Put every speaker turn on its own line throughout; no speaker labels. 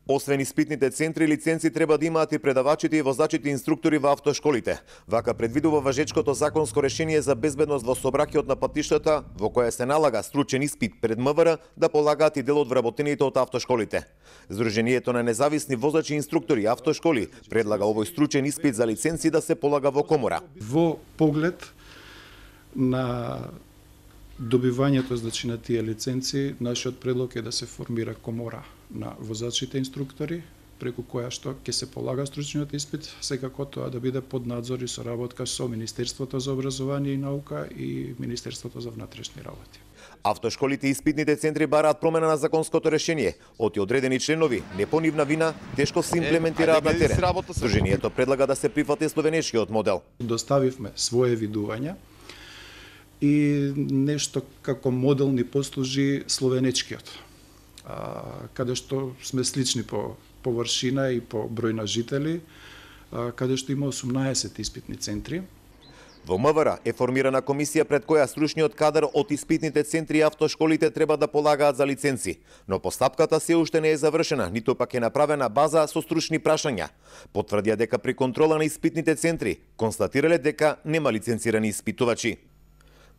Освен испитните центри, лиценци треба да имаат и предавачите и возачите инструктори во автошколите. Вака предвидува важечкото законско решение за безбедност во сообраќајот на патиштата, во кое се налага стручен испит пред МВР да полагаат и дел од вработените од автошколите. Сдруженијето на независни возачи и инструктори и автошколи предлага овој стручен испит за лиценци да се полага во комора.
Во поглед на добивањето значи на тие лиценци, нашиот предлог е да се формира комора на возачите инструктори, преку која што ќе се полага стручниот испит, секако тоа да биде под надзор и соработка со Министерството за образование и наука и Министерството за внатрешни работи.
Автошколите и испитните центри бараат промена на законското решение. Оти одредени членови, не по нивна вина, тешко се имплементираат на терен. Сдруженијето предлага да се прифати словенечкиот модел.
Доставивме своje видувања и нешто како модел ни послужи словенечкиот, каде што сме слични по површина и по број на жители, каде што има 18 испитни центри.
Во МВР е формирана комисија пред која стручниот кадар од испитните центри и автошколите треба да полагаат за лиценци, но постапката се уште не е завршена, ниту пак е направена база со стручни прашања. Потврдија дека при контрола на испитните центри констатирале дека нема лиценцирани испитувачи.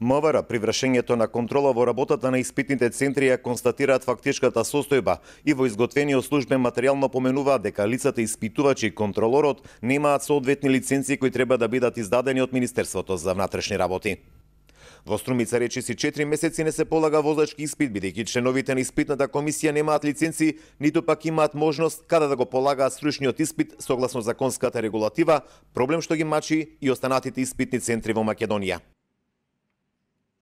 МВР при вршењето на контрола во работата на испитните центри ја констатираат фактичката состојба и во изготвениот службен материјал напоменуваат дека лицата испитувачи и контролорот немаат соодветни лиценци кои треба да бидат издадени од Министерството за внатрешни работи. Во Струмица речиси 4 месеци не се полага возачки испит, бидејќи членовите на испитната комисија немаат лиценци, ниту пак имаат можност каде да го полагаат стручниот испит согласно законската регулатива, проблем што ги мачи и останатите испитни центри во Македонија.